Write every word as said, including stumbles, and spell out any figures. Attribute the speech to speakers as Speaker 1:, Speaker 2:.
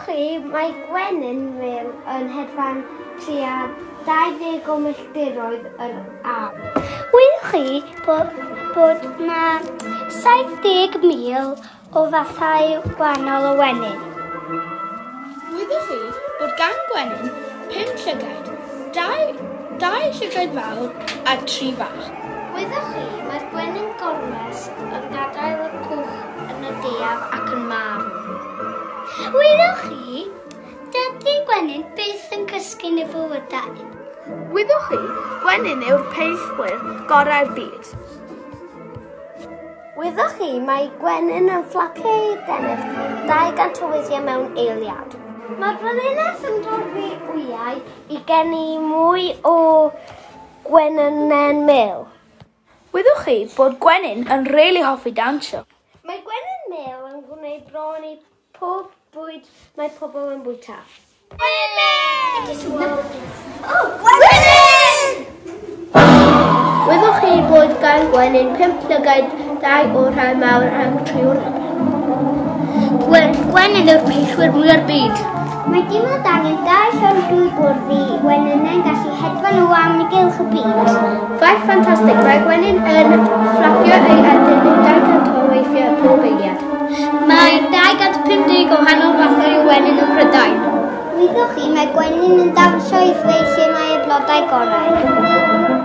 Speaker 1: chi, mae gwenyn mel yn hedfan tua dau ddeg o milltiroedd yr awr.
Speaker 2: Wyddoch chi bod, bod na saith deg mil o fathau gwahanol o wenyn?
Speaker 3: Wyddoch chi bod gan gwenyn pum llygaid, dau, dau llygaid fawr a tri fach?
Speaker 1: Wyddoch chi, mae'r gwenyn gormes yn gadael y cwch yn y gaeaf ac yn marw.
Speaker 2: Wyddoch chi, dydy gwenyn byth yn cysgu yn y bywydau.
Speaker 3: Wyddoch chi, gwenyn yw'r peillwyr gorau'r byd.
Speaker 1: Wyddoch chi, mae gwenyn yn fflapio ei adenydd dau gant o weithiau mewn eiliad. Mae'r frenhines yn dorri wyau i geni mwy o gwenynen mel.
Speaker 3: Wyddoch chi bod gwenyn yn rili hoffi dawnsio?
Speaker 1: Mae gwenyn mel yn gwneud bron i pob bwyd mae pobl yn bwyta.
Speaker 2: Gwenyn mel!
Speaker 1: Oh, gwenyn!
Speaker 4: Wyddoch chi bod gan gwenyn pump llygaid, dau o'r rhai mawr a tri o'r rhai.
Speaker 2: Gwenyn yw'r peillwyr mwya'r byd. Mae dim ond angen dau llond dŵr bwrdd i wenynen gallu hedfan o amgylch y byd.
Speaker 4: Ffaith ffantastig, mae gwenyn yn fflapio ei adenydd dau gant o weithiau pob eiliad.
Speaker 2: Mae dau gant pum deg o wahanol fathau o wenyn ym Mhrydain.
Speaker 1: Wyddoch chi, mae gwenyn yn dawnsio i ddweud lle mae y blodau gorau.